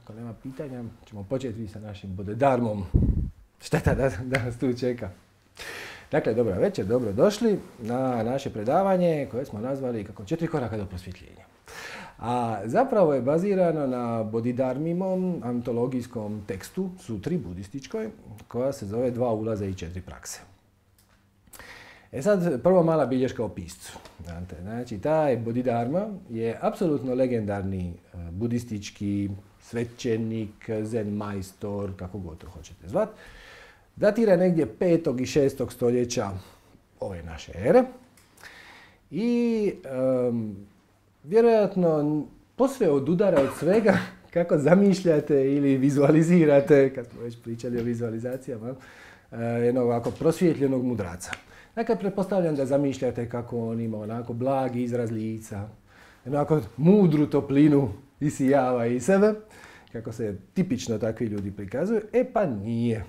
ako nema pitanja, ćemo početi sa našim Bodedarmom. Šteta da nas tu čeka. Dakle, dobra večer, dobro došli na naše predavanje koje smo nazvali kako 4 koraka do prosvjetljenja. A zapravo je bazirano na Bodhidharmimom antologijskom tekstu, sutri budističkoj, koja se zove 2 ulaza i 4 prakse. E sad, prvo mala bilješka o piscu. Znači, taj Bodhidharma je apsolutno legendarni budistički svećenik, zen majstor, kako god to hoćete zvat. Datira negdje 5. i 6. stoljeća ove naše ere. I vjerojatno posve odudara od svega kako zamišljate ili vizualizirate, kad smo već pričali o vizualizacijama, jednog ovako prosvjetljenog mudraca. Dakle, pretpostavljam da zamišljate kako on ima onako blagi izraz lica, onako mudru toplinu isijava iz sebe, kako se tipično takvi ljudi prikazuju. E pa nije.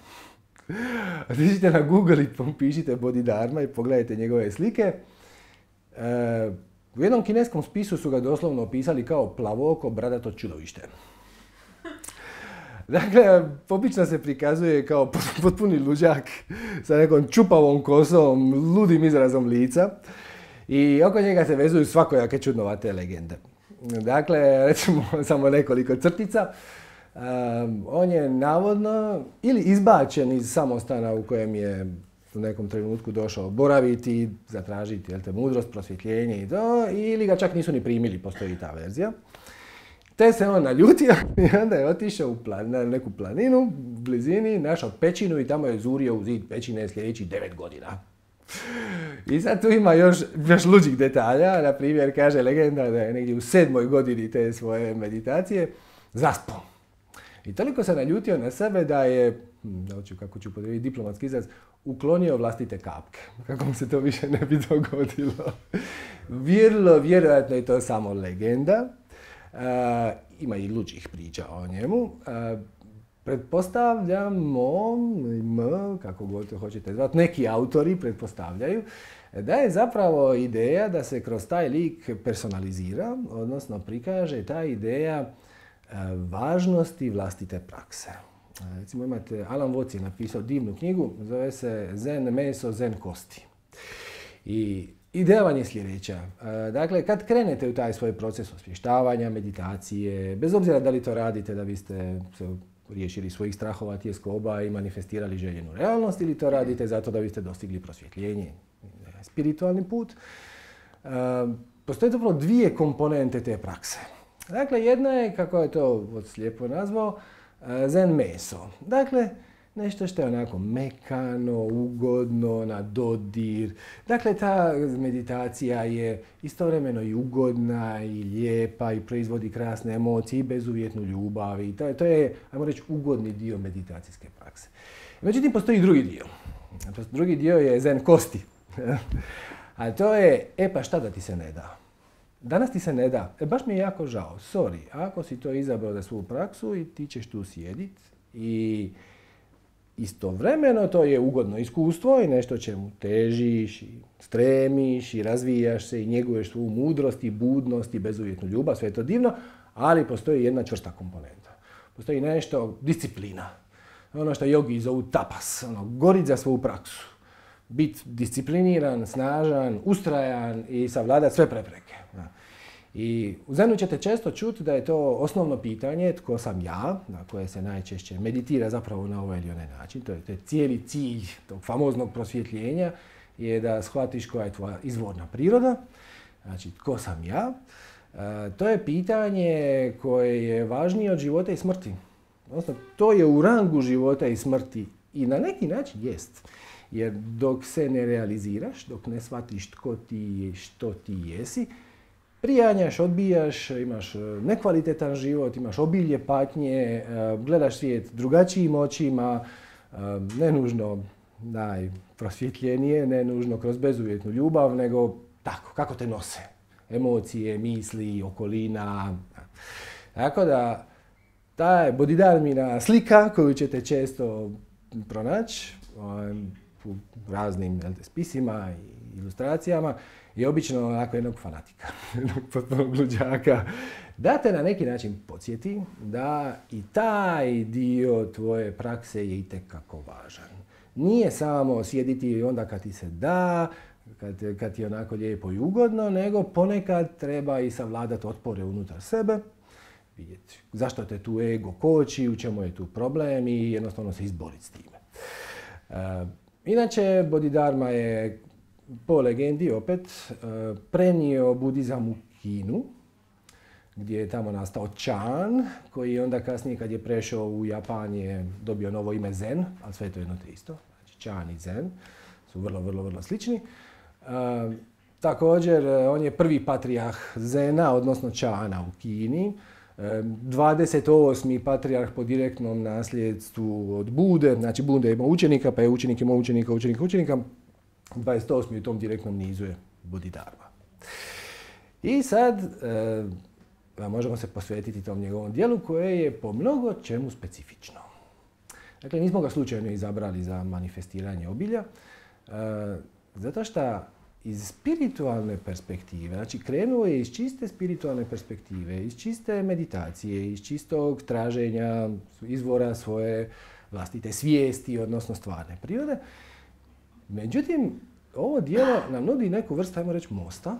Otiđite na Google i pišite Bodhidharma i pogledajte njegove slike. U jednom kineskom spisu su ga doslovno opisali kao plavoko bradato čudovište. Dakle, obično se prikazuje kao potpuni luđak sa nekom čupavom kosom, ludim izrazom lica i oko njega se vezuju svakojake čudnovate legende. Dakle, recimo samo nekoliko crtica. On je navodno ili izbačen iz samostana u kojem je u nekom trenutku došao boraviti, zatražiti mudrost, prosvjetljenje i to, ili ga čak nisu ni primili, postoji ta verzija. Te se on naljutio i onda je otišao na neku planinu u blizini, našao pećinu i tamo je zurio u zid pećine sljedećih 9 godina. I sad tu ima još luđih detalja, na primjer kaže legenda da je negdje u 7. godini te svoje meditacije zaspao. I toliko se naljutio na sebe da je, kako ću podrijeti diplomatski izraz, uklonio vlastite kapke. Kako mu se to više ne bi dogodilo. Vjerojatno je to samo legenda. Ima i luđih priča o njemu. Pretpostavljamo, kako god to hoćete zvati, neki autori pretpostavljaju da je zapravo ideja da se kroz taj lik personalizira, odnosno prikaže ta ideja važnosti vlastite prakse. Recimo imate, Alan Watts je napisao divnu knjigu, zove se Zen meso, zen kosti. I ideja vam je sljedeća. Dakle, kad krenete u taj svoj proces osvještavanja, meditacije, bez obzira da li to radite da biste se riješili svojih strahova, tjeskoba i manifestirali željenu realnost, ili to radite zato da biste dostigli prosvjetljenje, spiritualni put, postoje zapravo 2 komponente te prakse. Dakle, jedna je, kako je to lijepo nazvao, zen meso. Dakle, nešto što je onako mekano, ugodno, na dodir. Dakle, ta meditacija je istovremeno i ugodna, i lijepa, i proizvodi krasne emocije, i bezuvjetnu ljubav. I to je, ajmo reći, ugodni dio meditacijske prakse. Međutim, postoji drugi dio. Drugi dio je zen kosti. A to je, pa šta da ti se ne da? Danas ti se ne da. Baš mi je jako žao. Sorry, ako si to izabrao za svoju praksu i ti ćeš tu sjedit i istovremeno to je ugodno iskustvo i nešto čemu težiš i stremiš i razvijaš se i njeguješ svoju mudrost i budnost i bezuvjetnu ljubav, sve je to divno, ali postoji jedna čvrsta komponenta. Postoji nešto, disciplina. Ono što jogi zovu tapas, gorit za svoju praksu. Biti discipliniran, snažan, ustrajan i savladati sve prepreke. I u Zenu ćete često čuti da je to osnovno pitanje tko sam ja, na koje se najčešće meditira zapravo na ovaj ili onaj način. To je cijeli cilj tog famoznog prosvjetljenja je da shvatiš koja je tvoja izvorna priroda, znači tko sam ja. To je pitanje koje je važnije od života i smrti. Odnosno, to je u rangu života i smrti i na neki način jest. Jer dok se ne realiziraš, dok ne shvatiš tko ti je, što ti jesi, prijanjaš, odbijaš, imaš nekvalitetan život, imaš obilje patnje, gledaš svijet drugačijim očima, ne nužno najprosvjetljenije, ne nužno kroz bezuvjetnu ljubav, nego tako, kako te nose. Emocije, misli, okolina. Tako da, ta je Bodhidharmina slika koju ćete često pronaći u raznim spisima i ilustracijama, i obično onako jednog fanatika, jednog potpunog luđaka, da te na neki način podsjeti da i taj dio tvoje prakse je itekako važan. Nije samo sjediti onda kad ti se da, kad ti je onako lijepo i ugodno, nego ponekad treba i savladati otpore unutar sebe, vidjeti zašto te tu ego koči, u čemu je tu problem i jednostavno se izboriti s time. Inače, Bodhidharma je po legendi opet prenio budizam u Kinu, gdje je tamo nastao Chan, koji je onda kasnije kad je prešao u Japan je dobio novo ime Zen, ali sve je to jedno te isto. Znači Chan i Zen su vrlo slični. Također, on je prvi patrijarh Zena, odnosno Chana u Kini. 28. patrijarh po direktnom nasljedstvu od Bude, znači Bude je imao učenika, pa je učenik imao učenika. 28. u tom direktnom nizu je Bodhidharma. I sad možemo se posvetiti tom njegovom dijelu koje je po mnogo čemu specifično. Dakle, nismo ga slučajno izabrali za manifestiranje obilja, zato što iz spiritualne perspektive, znači krenuo je iz čiste spiritualne perspektive, iz čiste meditacije, iz čistog traženja izvora svoje vlastite svijesti, odnosno stvarne prirode. Međutim, ovo djelo nam nudi neku vrstu, ajmo reći, mosta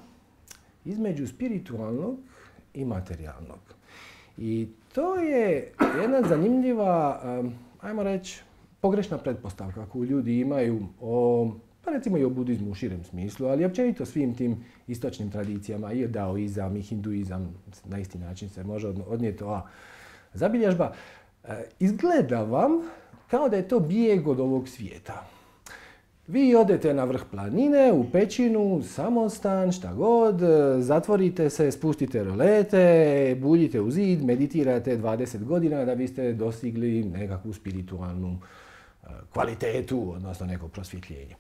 između spiritualnog i materijalnog. I to je jedna zanimljiva, ajmo reći, pogrešna pretpostavka koju ljudi imaju pa recimo i o budizmu u širem smislu, ali općenito svim tim istočnim tradicijama, i daoizam i hinduizam, na isti način se može odnijeti ova zabilježba. Izgleda vam kao da je to bijeg od ovog svijeta. Vi odete na vrh planine, u pećinu, samostan, šta god, zatvorite se, spustite rolete, buljite u zid, meditirate 20 godina da biste dostigli nekakvu spiritualnu kvalitetu, odnosno neko prosvjetljenje.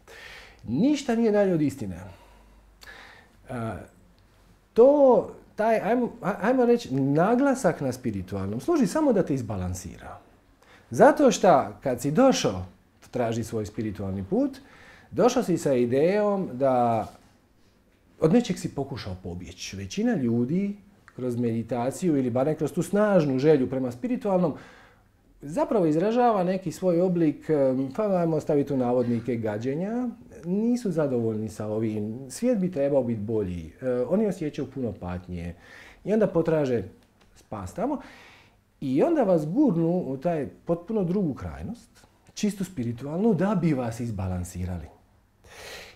Ništa nije dalje od istine. Ajmo reći, naglasak na spiritualnom služi samo da te izbalansira. Zato što kad si došao traži svoj spiritualni put, došao si sa idejom da od nečeg si pokušao pobjeći. Većina ljudi kroz meditaciju ili barem kroz tu snažnu želju prema spiritualnom zapravo izražava neki svoj oblik, pa ajmo staviti u navodnike, gađenja. Nisu zadovoljni sa ovim. Svijet bi trebao biti bolji. Oni osjećaju puno patnje. I onda potraže spas tamo. I onda vas gurnu u taj potpuno drugu krajnost, čistu spiritualnu, da bi vas izbalansirali.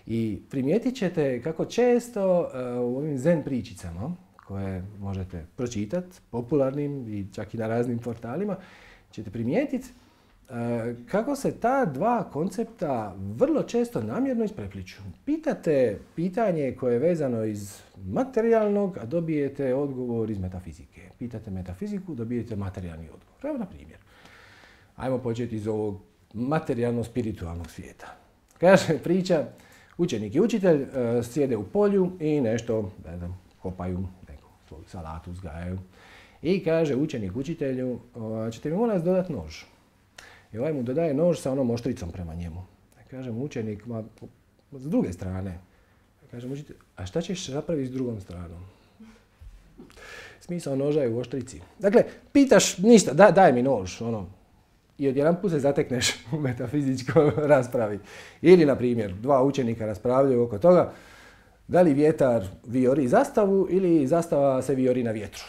I primijetit ćete kako često u ovim zen pričicama, koje možete pročitati, popularnim i čak i na raznim portalima, ćete primijetiti kako se ta dva koncepta vrlo često namjerno isprepliču. Pitate pitanje koje je vezano iz materijalnog, a dobijete odgovor iz metafizike. Pitate metafiziku, dobijete materijalni odgovor. Evo na primjer. Ajmo početi iz ovog materijalno-spiritualnog svijeta. Kaže priča, učenik i učitelj sjede u polju i nešto, kopaju, neku svoju salatu uzgajaju. I kaže učenik učitelju, ćete mi molim vas dodati nož. I ovaj mu dodaje nož sa onom oštricom prema njemu. Kaže mu učenik, s druge strane. Kaže mu učitelj, a šta ćeš napraviti s drugom stranom? Smisao noža je u oštrici. Dakle, pitaš ništa, daj mi nož, i odjedanput se zatekneš u metafizičkoj raspravi. Ili, na primjer, dva učenika raspravljaju oko toga da li vjetar vijori zastavu ili zastava se vijori na vjetru.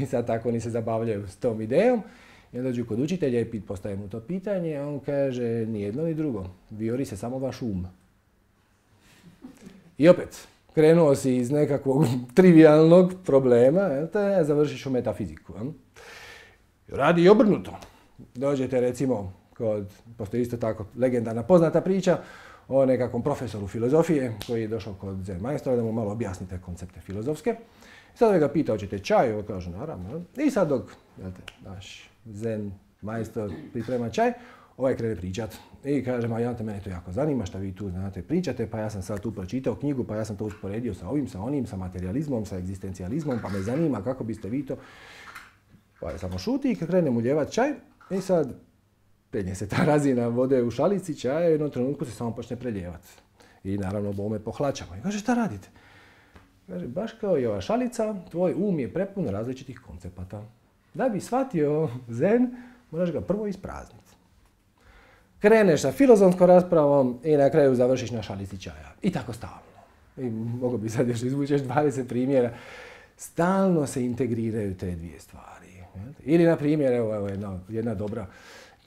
I sad tako oni se zabavljaju s tom idejom. I onda dođu kod učitelja i postaje mu to pitanje, a on kaže ni jedno ni drugo. Vijori se samo vaš um. I opet, krenuo si iz nekakvog trivialnog problema, te završiš u metafiziku. Radi i obrnuto. Dođete recimo postoji isto tako legendarna poznata priča o nekakvom profesoru filozofije koji je došao kod zen majstora da mu malo objasnite koncepte filozofske. Sad ga pita, hoćete čaj? Ovo kaže, naravno. I sad dok naš zen majstor priprema čaj, ovaj krene pričat. I kaže, mene to jako zanima šta vi tu znate pričate, pa ja sam sad tu pročitao knjigu, pa ja sam to usporedio sa ovim, sa onim, sa materializmom, sa egzistencijalizmom, pa me zanima kako biste vi to... Pa je samo šuti i krene mu ljevat čaj i sad penje se ta razina vode u šalici čaja i u jednom trenutku se samo počne preljevati. I naravno bome pohlačamo. I kaže, šta radite? Kaže, baš kao i ova šalica, tvoj um je prepun različitih koncepata. Da bi shvatio zen, moraš ga prvo isprazniti. Kreneš sa filozofskom raspravom i na kraju završiš na šalici čaja. I tako stalno. I mogu bi sad još izvučeš 20 primjera. Stalno se integriraju te dvije stvari. Ili, na primjer, evo jedna dobra.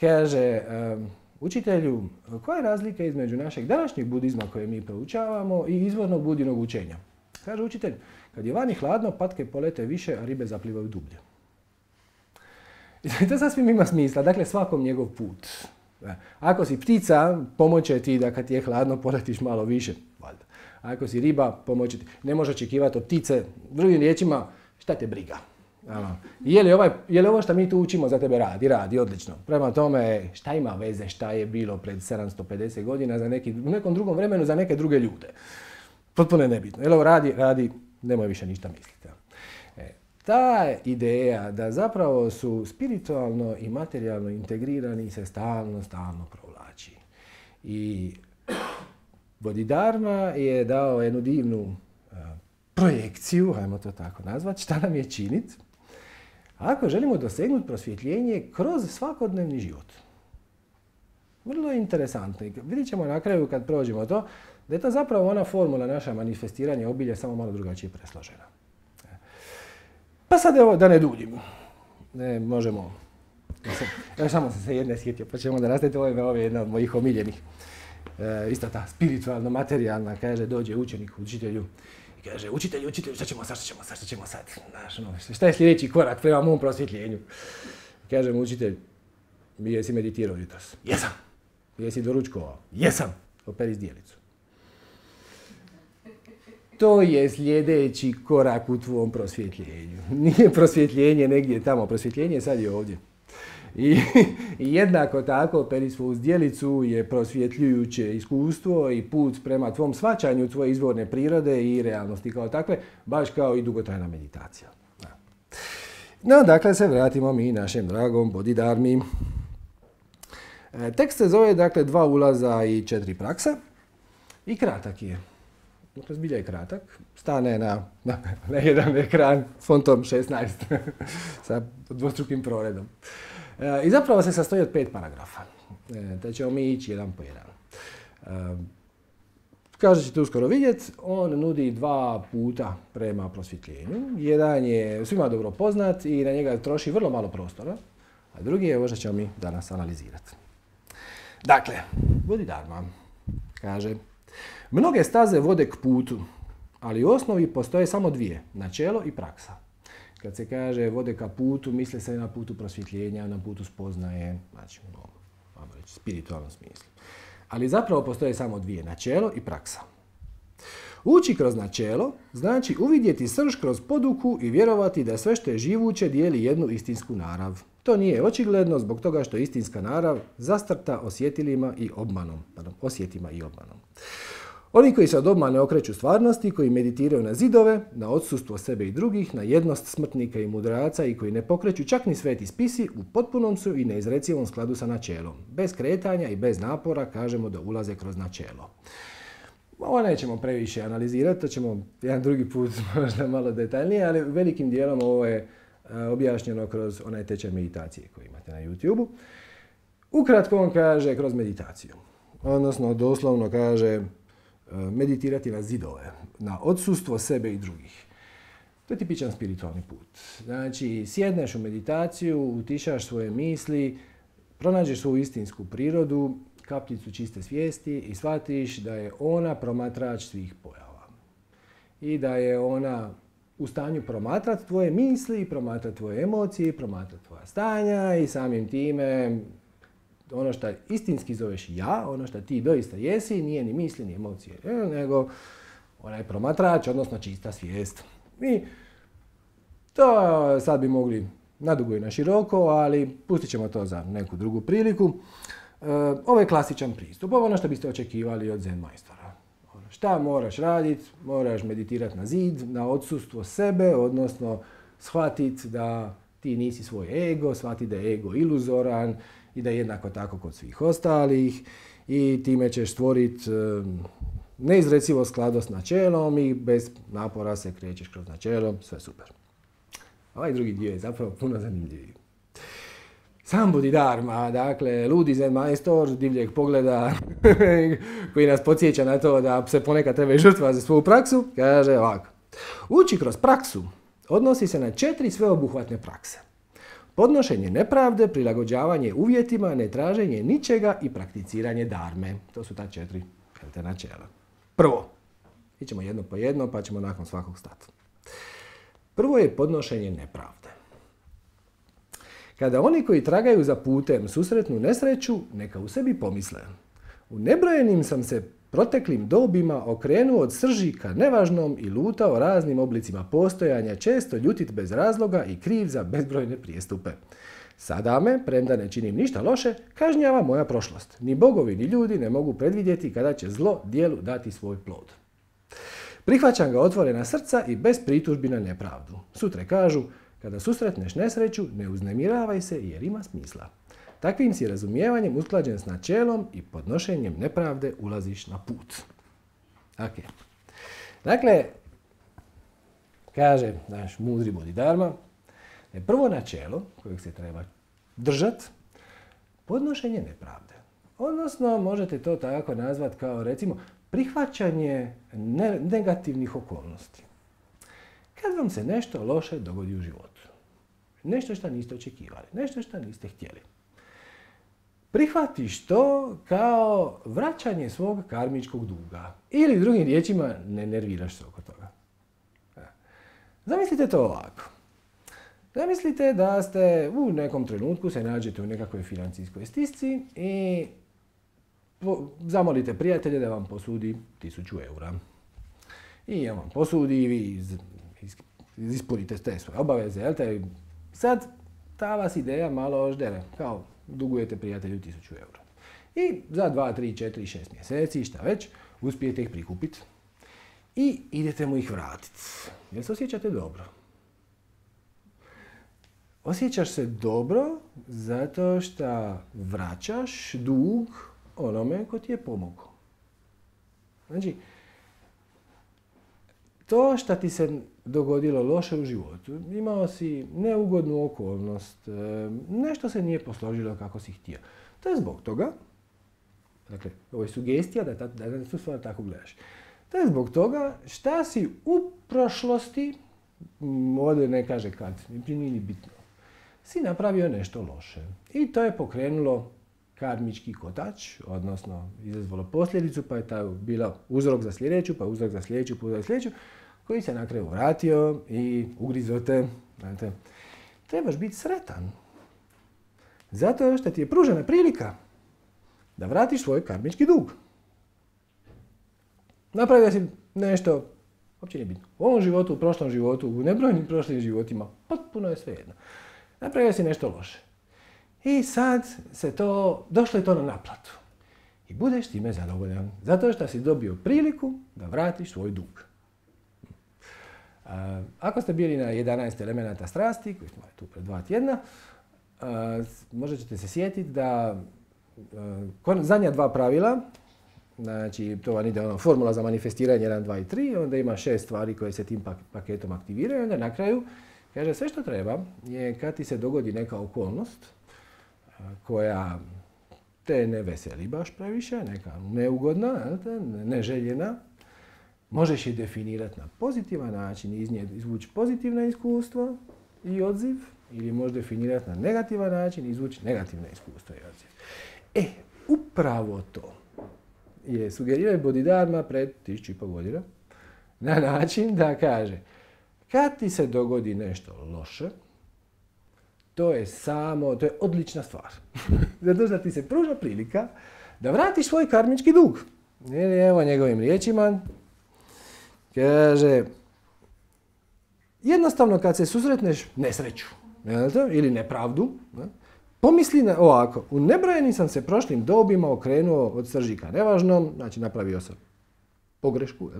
Kaže, učitelju, koja je razlika između našeg današnjeg budizma koje mi proučavamo i izvornog budinog učenja? Kaže učitelj, kad je vani hladno, patke polete više, a ribe zaplivaju dublje. I to sasvim ima smisla, dakle svakom njegov put. Ako si ptica, pomoće ti da kad ti je hladno poletiš malo više, valjda. Ako si riba, pomoće ti. Ne možeš očekivati od ptice, drugim riječima, šta te briga. Je li ovo što mi tu učimo za tebe radi? Radi, odlično. Prema tome, šta ima veze šta je bilo pred 750 godina u nekom drugom vremenu za neke druge ljude? Potpuno je nebitno. Jel ovo radi, nemoj više ništa misliti. Ta ideja da zapravo su spiritualno i materijalno integrirani se stalno provlači. I Bodhidharma je dao jednu divnu projekciju, hajmo to tako nazvati, šta nam je činiti ako želimo dosegnuti prosvjetljenje kroz svakodnevni život. Vrlo je interesantno. Vidjet ćemo na kraju kad prođemo to, da je to zapravo ona formula naša manifestiranja obilja samo malo drugačije presložena. Pa sad evo, da ne duljim. Možemo. Evo samo sam se jedne sjetio, pa ćemo da nastaviti. Ovo je jedna od mojih omiljenih. Isto ta spiritualno materijalna, kaže, dođe učenik učitelju i kaže, učitelju, šta ćemo sad? Znaš, šta je sljedeći korak prema mom prosvjetljenju? Kaže mu učitelj, jesi meditirao jutros? Jesam. Jesi doručkovao? Jesam. Operi zdjelicu. To je sljedeći korak u tvom prosvjetljenju. Nije prosvjetljenje negdje tamo, prosvjetljenje sad je ovdje. I jednako tako operi svoju zdjelicu je prosvjetljujuće iskustvo i put prema tvom shvaćanju tvoje izvorne prirode i realnosti kao takve, baš kao i dugotrajna meditacija. No, dakle, se vratimo mi našem dragom Bodhidharmi. Tekst se zove, dakle, 2 ulaza i 4 prakse i kratak je. Dakle, zbilja je kratak. Stane na jedan ekran s fontom 16 sa dvostrukim proredom. I zapravo se sastoji od 5 paragrafa. Da ćemo mi ići jedan po jedan. Kao što ćete uskoro vidjeti, on nudi 2 puta prema prosvjetljenju. Jedan je svima dobro poznat i na njega troši vrlo malo prostora, a drugi je ovo što ćemo mi danas analizirati. Dakle, Bodhidharma kaže, mnoge staze vode k putu, ali u osnovi postoje samo 2, načelo i praksa. Kad se kaže vode ka putu, misli se na putu prosvjetljenja, na putu spoznaje, znači u spiritualnom smislu. Ali zapravo postoje samo 2, načelo i praksa. Ući kroz načelo znači uvidjeti srž kroz poduku i vjerovati da sve što je živuće dijeli jednu istinsku narav. To nije očigledno zbog toga što je istinska narav zastrta osjetilima i obmanom. Oni koji se od obmane okreću stvarnosti, koji meditiraju na zidove, na odsustvo sebe i drugih, na jednost smrtnika i mudraca i koji ne pokreću čak ni sveti spisi, u potpunom su i neizrecivom skladu sa načelom. Bez kretanja i bez napora kažemo da ulaze kroz načelo. Ovo nećemo previše analizirati, to ćemo jedan drugi put možda malo detaljnije, ali velikim dijelom ovo je objašnjeno kroz onaj tečaj meditacije koji imate na YouTube-u. Ukratko on kaže kroz meditaciju. Odnosno, doslovno kaže meditirati na zidove, na odsustvo sebe i drugih. To je tipičan spiritualni put. Znači, sjedneš u meditaciju, utišaš svoje misli, pronađeš svoju istinsku prirodu, kapljicu čiste svijesti i shvatiš da je ona promatrač svih pojava. I da je ona u stanju promatrati tvoje misli, promatrati tvoje emocije, promatrati tvoja stanja i samim time ono što istinski zoveš ja, ono što ti doista jesi, nije ni misli, ni emocije, nego onaj promatrač, odnosno čista svijest. I to sad bi mogli nadugo i na široko, ali pustit ćemo to za neku drugu priliku. Ovo je klasičan pristup, ovo je ono što biste očekivali od zen majstora. Šta moraš raditi? Moraš meditirati na zid, na odsustvo sebe, odnosno shvatiti da ti nisi svoj ego, shvatiti da je ego iluzoran i da je jednako tako kod svih ostalih i time ćeš stvoriti neizrecivo skladu s načelom i bez napora se krećeš kroz načelo, sve super. Ovaj drugi dio je zapravo puno zanimljiviji. Sam Bodhidharma, dakle, ludi zen majstor divljeg pogleda koji nas podsjeća na to da se ponekad treba žrtva za svoju praksu, kaže ovako. Uči kroz praksu odnosi se na 4 sveobuhvatne prakse. Podnošenje nepravde, prilagođavanje uvjetima, netraženje ničega i prakticiranje dharme. To su ta 4 načela. Prvo, ićemo jedno po jedno pa ćemo nakon svakog stati. Prvo je podnošenje nepravde. Kada oni koji tragaju za putem susretnu nesreću, neka u sebi pomisle. U nebrojenim sam se proteklim dobima okrenuo od srži ka nevažnom i lutao raznim oblicima postojanja, često ljutit bez razloga i kriv za bezbrojne prijestupe. Sada me, premda ne činim ništa loše, kažnjava moja prošlost. Ni bogovi ni ljudi ne mogu predvidjeti kada će zlo dijelu dati svoj plod. Prihvaćam ga otvorena srca i bez pritužbi na nepravdu. Sutre kažu, kada susretneš nesreću, ne uznemiravaj se jer ima smisla. Takvim si razumijevanjem usklađen s načelom i podnošenjem nepravde ulaziš na put. Okay. Dakle, kaže naš mudri Bodhidharma, je prvo načelo kojeg se treba držati, podnošenje nepravde. Odnosno, možete to tako nazvati kao, recimo, prihvaćanje negativnih okolnosti. Kad vam se nešto loše dogodi u životu, nešto što niste očekivali, nešto što niste htjeli, prihvatiš to kao vraćanje svog karmičkog duga. Ili drugim riječima, ne nerviraš se oko toga. Zamislite to ovako. Zamislite da ste u nekom trenutku se nađete u nekakvoj financijskoj stisci i zamolite prijatelja da vam posudi 1000 eura. I on vam posudi i vi ispunite te svoje obaveze. Jel te? Sad ta vas ideja malo ždere. Kao dugujete prijatelju 1000 eura. I za 2, 3, 4, 6 mjeseci, šta već, uspijete ih prikupiti. I idete mu ih vratiti. Jel se osjećate dobro? Osjećaš se dobro zato što vraćaš dug onome ko ti je pomogao. Znači, to što ti se dogodilo loše u životu, imao si neugodnu okolnost, nešto se nije posložilo kako si htio. To je zbog toga, dakle, ovo je sugestija da tu stvar tako gledaš. To je zbog toga šta si u prošlosti, ovdje ne kaže kad, nije ni bitno, si napravio nešto loše. I to je pokrenulo karmički kotač, odnosno izazvalo posljedicu, pa je ta bila uzrok za sljedeću, pa uzrok za sljedeću, pa uzrok za sljedeću, koji se na kraju vratio i ugrizo te. Znate, trebaš biti sretan. Zato što ti je pružena prilika da vratiš svoj karmički dug. Napravio si nešto, uopće nije bitno, u ovom životu, u prošlom životu, u nebrojnim prošlim životima, potpuno je svejedno. Napravio si nešto loše. I sad došlo je to na naplatu. I budeš time zadovoljan. Zato što si dobio priliku da vratiš svoj dug. Ako ste bili na 11 elemenata strasti, koji smo tu pred 2 tjedna, možda ćete se sjetiti da zadnja 2 pravila, znači to vam ide formula za manifestiranje 1, 2 i 3, onda ima 6 stvari koje se tim paketom aktiviraju, onda na kraju kaže sve što treba je kad ti se dogodi neka okolnost koja te ne veseli baš previše, neka neugodna, neželjena, možeš je definirati na pozitivan način, iz nje izvući pozitivna iskustva i odziv, ili možeš definirati na negativan način i izvući negativna iskustva i odziv. Upravo to je sugerirao Bodhidharma pred 1500 godina na način da kaže kad ti se dogodi nešto loše, to je odlična stvar. Zato što ti se pruža prilika da vratiš svoj karmički dug. Evo njegovim riječima. Kaže, jednostavno kad se susretneš nesreću ili nepravdu, pomisli ovako, u nebrojenim sam se prošlim dobima okrenuo od srži ka nevažnom, znači napravio sam pogrešku,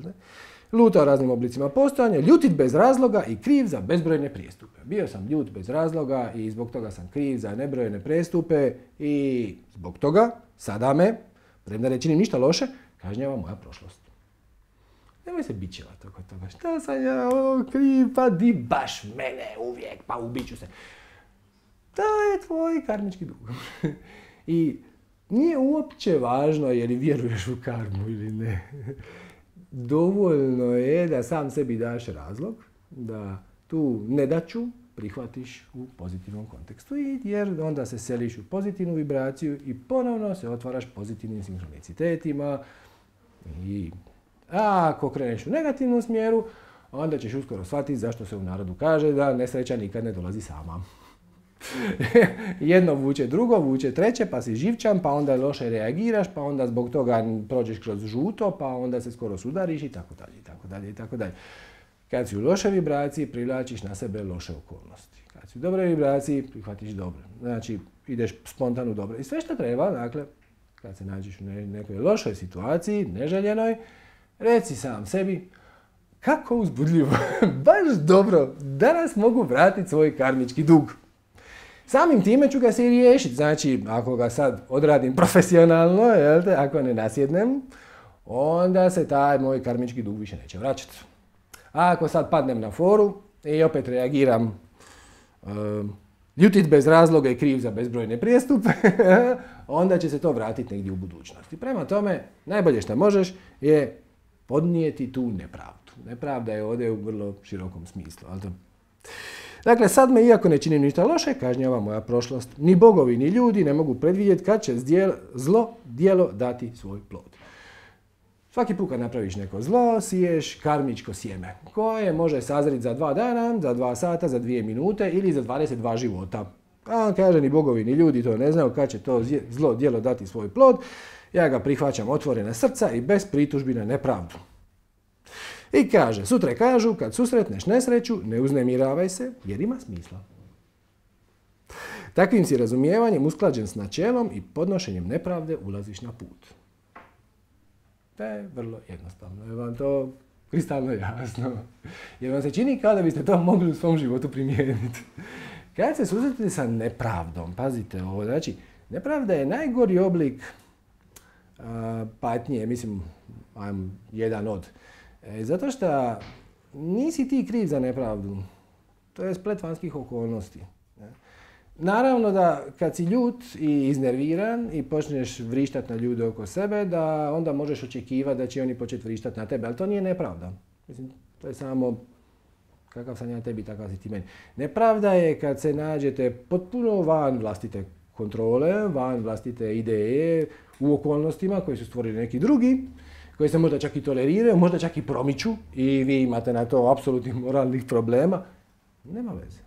lutao raznim oblicima postojanja, ljutit bez razloga i kriv za bezbrojne prijestupe. Bio sam ljut bez razloga i zbog toga sam kriv za nebrojene prijestupe i zbog toga sada me, premda ne činim ništa loše, kažnjava moja prošlost. Nemoj se bićevati oko toga. Šta sam ja kriv, pa di baš mene uvijek, pa ubiću se. To je tvoj karmički dug. I nije uopće važno je li vjeruješ u karmu ili ne. Dovoljno je da sam sebi daš razlog, da tu nedaću prihvatiš u pozitivnom kontekstu, jer onda se seliš u pozitivnu vibraciju i ponovno se otvaraš pozitivnim sinhronicitetima. A ako kreneš u negativnom smjeru, onda ćeš uskoro shvatiti zašto se u narodu kaže da nesreća nikad ne dolazi sama. Jedno vuče drugo, vuče treće, pa si živčan, pa onda loše reagiraš, pa onda zbog toga prođeš kroz žuto, pa onda se skoro sudariš i tako dalje, i tako dalje, i tako dalje. Kad si u lošoj vibraciji, privlačiš na sebe loše okolnosti. Kad si u dobroj vibraciji, prihvatiš dobro. Znači, ideš spontano dobro. I sve što treba, dakle, kad se nađeš u nekoj lošoj situaciji, neželjenoj, reci sam sebi, kako uzbudljivo, baš dobro, danas mogu vratiti svoj karmički dug. Samim time ću ga se i riješiti. Znači, ako ga sad odradim profesionalno, ako ne nasjednem, onda se taj moj karmički dug više neće vraćati. A ako sad padnem na foru i opet reagiram ljutit bez razloga i kriv za bezbrojne prijestupe, onda će se to vratiti negdje u budućnosti. Prema tome, najbolje što možeš je podnijeti tu nepravdu. Nepravda je ovdje u vrlo širokom smislu. Dakle, sad me, iako ne činim ništa loše, kažnjava moja prošlost. Ni bogovi, ni ljudi ne mogu predvidjeti kad će zlo djelo dati svoj plod. Svaki put kad napraviš neko zlo, siješ karmičko sjeme, koje može sazriti za 2 dana, za 2 sata, za 2 minute ili za 22 života. A kaže, ni bogovi, ni ljudi to ne znaju kad će to zlo djelo dati svoj plod. Ja ga prihvaćam otvorena srca i bez pritužbi na nepravdu. I kaže, sutre kažu, kad susretneš nesreću, ne uznemiravaj se, jer ima smisla. Takvim si razumijevanjem usklađen s načelom i podnošenjem nepravde ulaziš na put. To je vrlo jednostavno. Je vam to kristalno jasno? Jer vam se čini kao da biste to mogli u svom životu primijeniti. Kad se susretite sa nepravdom, pazite ovo, znači, nepravda je najgori oblik patnje, mislim, jedan od. Zato što nisi ti kriv za nepravdu. To je splet vanjskih okolnosti. Naravno da kad si ljut i iznerviran i počneš vrištati na ljude oko sebe, da onda možeš očekivati da će oni početi vrištati na tebe, ali to nije nepravda. Mislim, to je samo kakav sam ja tebi, takav si ti meni. Nepravda je kad se nađete potpuno van vlastite kontrole, van vlastite ideje, u okolnostima koje su stvorili neki drugi, koji se možda čak i toleriraju, možda čak i promiču i vi imate na to apsolutnih moralnih problema. Nema veze.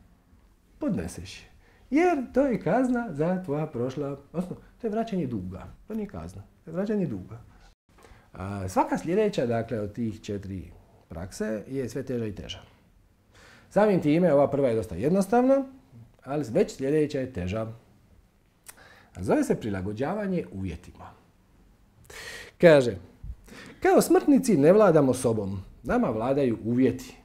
Podneseš je. Jer to je kazna za tvoja prošla, odnosno to je vraćanje duga. To nije kazna, to je vraćanje duga. Svaka sljedeća, dakle, od tih 4 prakse je sve teža i teža. Samim time, ova prva je dosta jednostavna, ali već sljedeća je teža. Zove se prilagođavanje uvjetima. Kaže, kao smrtnici ne vladamo sobom, nama vladaju uvjeti.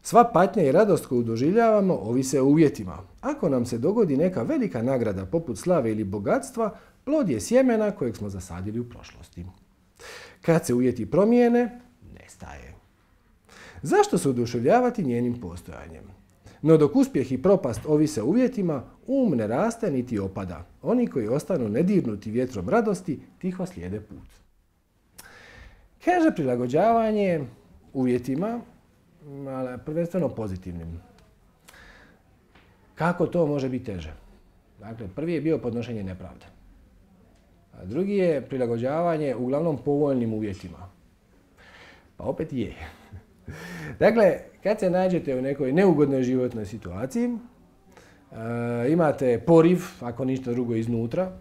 Sva patnja i radost koju doživljavamo ovise o uvjetima. Ako nam se dogodi neka velika nagrada poput slave ili bogatstva, plod je sjemena kojeg smo zasadili u prošlosti. Kad se uvjeti promijene, nestaje. Zašto se oduševljavati njenim postojanjem? No dok uspjeh i propast ovise o uvjetima, ne raste niti opada. Oni koji ostanu nedirnuti vjetrom radosti, tiho slijede put. Kaže, prilagođavanje uvjetima, ali prvenstveno pozitivnim. Kako to može biti teže? Dakle, prvi je bio podnošenje nepravde. A drugi je prilagođavanje uglavnom povoljnim uvjetima. Pa opet je. Dakle, kad se nađete u nekoj neugodnoj životnoj situaciji, imate poriv, ako ništa drugo iznutra,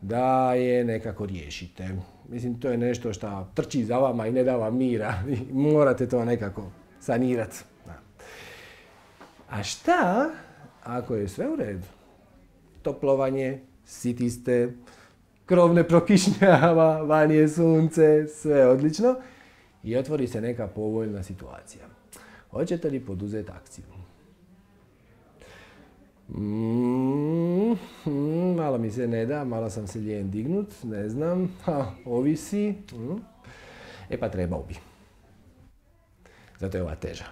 da je nekako riješite. Mislim, to je nešto što trči za vama i ne da vam mira. Morate to nekako sanirati. A šta ako je sve u redu? Toplovanje, siti ste, krov ne prokišnjava, van je sunce, sve je odlično i otvori se neka povoljna situacija. Hoćete li poduzeti akciju? Malo mi se ne da, malo sam se lijen dignut, ne znam, ovisi. E pa trebao bi. Zato je ova teža.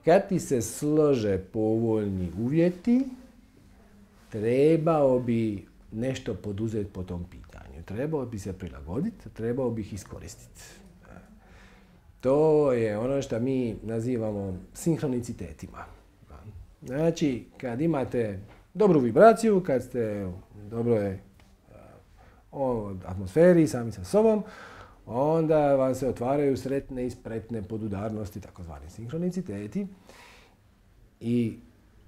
Kad ti se slože povoljni uvjeti, trebao bi nešto poduzeti po tom pitanju. Trebao bi se prilagoditi, trebao bi ih iskoristiti. To je ono što mi nazivamo sinhronicitetima. Znači, kad imate dobru vibraciju, kad ste u dobroj atmosferi, sami sa sobom, onda vam se otvaraju sretne i spretne podudarnosti, takozvani sinhroniciteti. I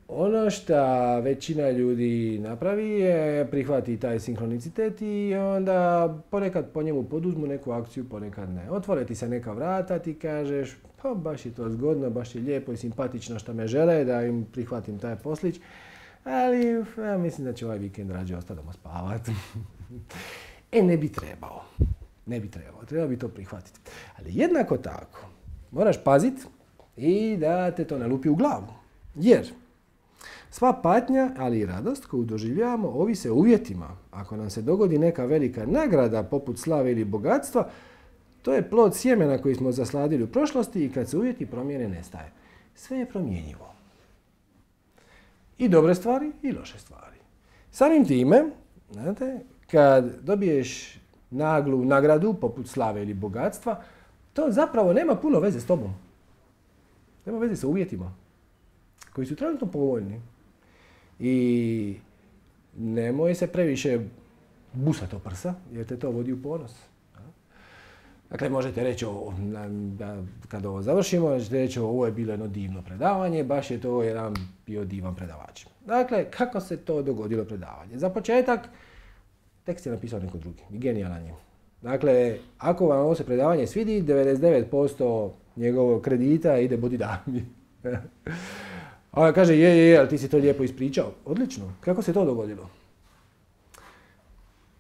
ono što većina ljudi napravi je prihvati taj sinhronicitet i onda ponekad po njemu poduzmu neku akciju, ponekad ne. Otvore ti se neka vrata, ti kažeš pa baš je to zgodno, baš je lijepo i simpatično što me žele da im prihvatim taj poslić, ali ja mislim da će ovaj vikend rađe ostati doma spavati. Ne bi trebao. Ne bi trebao. Treba bi to prihvatiti. Ali jednako tako moraš paziti i da te to ne lupi u glavu. Jer sva patnja, ali i radost koju doživljavamo ovise o uvjetima. Ako nam se dogodi neka velika nagrada poput slave ili bogatstva, to je plod sjemena koji smo zasladili u prošlosti i kad se uvjeti promijene nestaje. Sve je promjenjivo. I dobre stvari i loše stvari. Samim time, znate, kad dobiješ naglu nagradu poput slave ili bogatstva, to zapravo nema puno veze s tobom. Nema veze sa uvjetima koji su trenutno povoljni. I nemoj se previše busati o prsa, jer te to vodi u ponos. Dakle, možete reći, kad ovo završimo, možete reći ovo je bilo jedno divno predavanje, baš je to jedan bio divan predavač. Dakle, kako se to dogodilo predavanje? Za početak, tekst je napisao neko drugi i genijalan je. Dakle, ako vam ovo se predavanje svidi, 99% njegovog kredita ide Bodhidharmi. A on kaže, ali ti si to lijepo ispričao. Odlično. Kako se to dogodilo?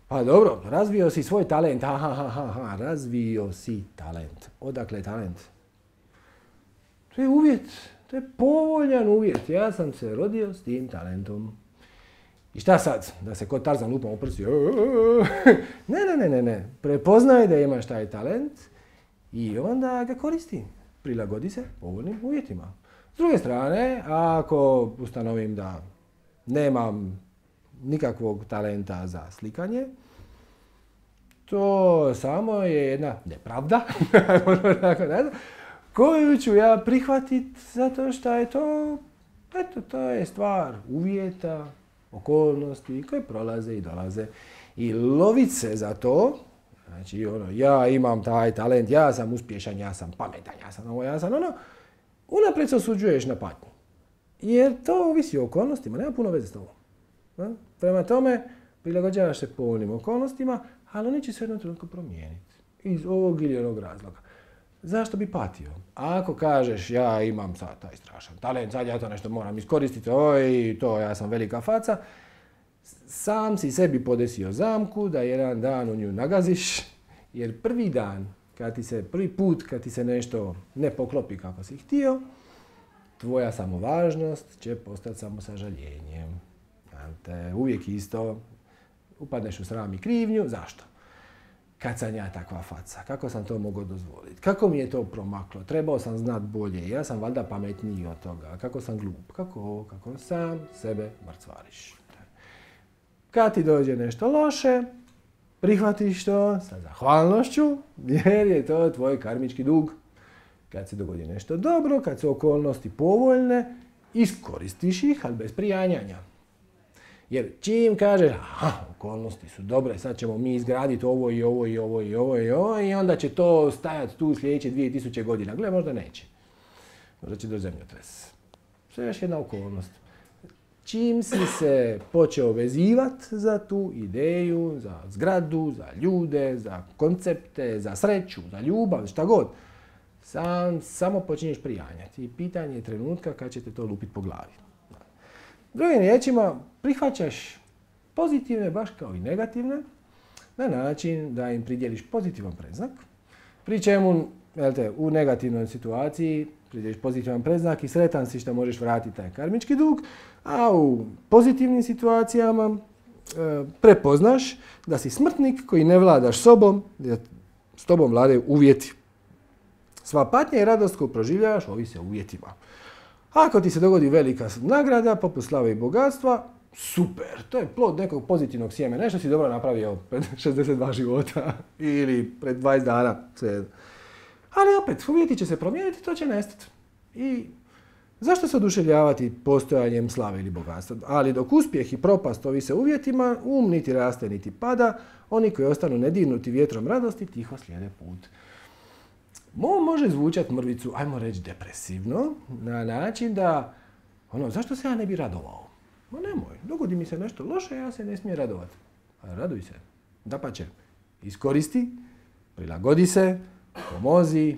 Pa dobro, razvio si svoj talent. Razvio si talent. Odakle je talent? To je uvjet. To je povoljan uvjet. Ja sam se rodio s tim talentom. I šta sad? Da se kod Tarzan lupam u prsi? Ne. Prepoznaj da imaš taj talent i onda ga koristi. Prilagodi se povoljnim uvjetima. S druge strane, ako ustanovim da nemam nikakvog talenta za slikanje, to samo je jedna nepravda koju ću ja prihvatiti zato što je to, to je stvar uvjeta, okolnosti koje prolaze i dolaze. I lovit se za to, znači ja imam taj talent, ja sam uspješan, ja sam pametan, ja sam ovo, ja sam ono, unaprijed se osuđuješ na patnju. Jer to ovisi o okolnostima, nema puno veze s tobom. Prema tome, prilagođavaš se povoljnim okolnostima, ali oni će se jednom trenutku promijeniti. Iz ovog ili onog razloga. Zašto bi patio? Ako kažeš ja imam sad taj strašan talent, sad ja to nešto moram iskoristiti, ja sam velika faca, sam si sebi podesio zamku da jedan dan u nju nagaziš, jer prvi put kad ti se nešto ne poklopi kako si htio, tvoja samovažnost će postati samo sažaljenjem. Uvijek isto, upadneš u sram i krivnju, zašto? Kad sam ja takva faca, kako sam to mogao dozvoliti, kako mi je to promaklo, trebao sam znat bolje, ja sam valjda pametniji od toga, kako sam glup, kako sam sebe mrcvariš. Kad ti dođe nešto loše, prihvatiš to sa zahvalnošću, jer je to tvoj karmički dug. Kad se dogodi nešto dobro, kad su okolnosti povoljne, iskoristiš ih, ali bez prijanjanja. Jer čim kažeš, okolnosti su dobre, sad ćemo mi izgraditi ovo i onda će to stajati tu sljedeće 2000 godina. Gle, možda neće. Možda će doći zemljotres. To je još jedna okolnost. Čim si se počeo vezivati za tu ideju, za zgradu, za ljude, za koncepte, za sreću, za ljubav, šta god, samo počinješ prijanjati. I pitanje je trenutka kad će te to lupiti po glavi. Drugim riječima, prihvaćaš pozitivne, baš kao i negativne, na način da im pridjeliš pozitivan predznak, pri čemu u negativnoj situaciji pridjeliš pozitivan predznak i sretan si što možeš vratiti taj karmički dug, a u pozitivnim situacijama prepoznaš da si smrtnik koji ne vladaš sobom, jer s tobom vladaju uvjeti. Sva patnja i radost koju proživljavaš ovise o uvjetima. Ako ti se dogodi velika nagrada, poput slave i bogatstva, super, to je plod nekog pozitivnog sjemena, nešto si dobro napravio pred 62 života ili pred 20 dana. Ali opet, uvjeti će se promijeniti, to će nestati. I zašto se oduševljavati postojanjem slave ili bogatstva? Ali dok uspjeh i propast ovise uvjetima, niti raste niti pada, oni koji ostanu nedirnuti vjetrom radosti tiho slijede put. Može zvučati mrvicu, ajmo reći depresivno, na način da, zašto se ja ne bi radovao? Nemoj, dogodi mi se nešto loše, ja se ne smijem radovati. Raduj se, dapače, iskoristi, prilagodi se, pomozi,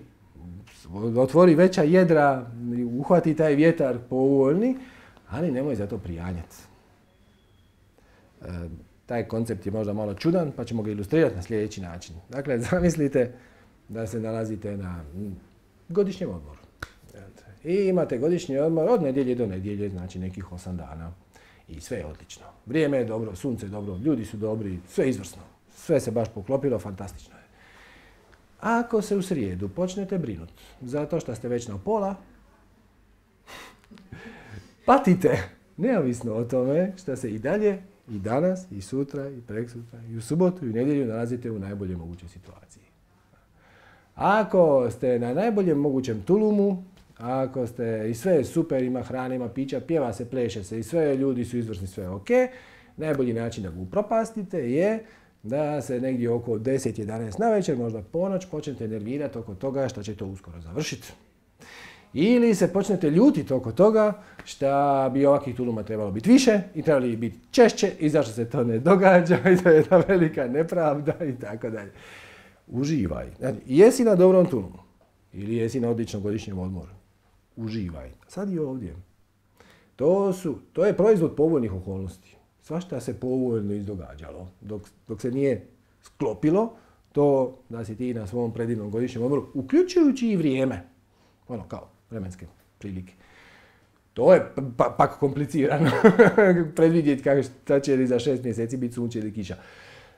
otvori veća jedra, uhvati taj vjetar povoljni, ali nemoj zato prijanjati. Taj koncept je možda malo čudan, pa ćemo ga ilustrirati na sljedeći način. Dakle, zamislite da se nalazite na godišnjem odmoru. I imate godišnji odmor od nedjelje do nedjelje, znači nekih 8 dana. I sve je odlično. Vrijeme je dobro, sunce je dobro, ljudi su dobri, sve je izvrsno. Sve se baš poklopilo, fantastično je. Ako se u srijedu počnete brinuti zato što ste već na pola, patite, neovisno o tome što se i dalje, i danas, i sutra, i preksutra, i u subotu, i u nedjelju nalazite u najboljoj mogućoj situaciji. Ako ste na najboljem mogućem tulumu, ako ste i sve je super, ima hrane, ima pića, pjeva se, pleše se i sve, ljudi su izvrsni, sve je ok, najbolji način da ga upropastite je da se negdje oko 10-11 navečer, možda ponoć, počnete nervirati oko toga što će to uskoro završiti. Ili se počnete ljutiti oko toga što bi ovakvih tuluma trebalo biti više i trebali biti češće i zašto se to ne događa i to je jedna velika nepravda i tako dalje. Uživaj. Znači, jesi na dobrom tulumu ili jesi na odličnom godišnjem odmoru. Uživaj. Sad i ovdje. To je proizvod povoljnih okolnosti. Svašta se povoljno izdogađalo. Dok se nije sklopilo to da si ti na svom predivnom godišnjem odmoru, uključujući i vrijeme. Kao vremenske prilike. To je pak komplicirano. Predvidjeti šta će li za 6 mjeseci biti sunce ili kiša.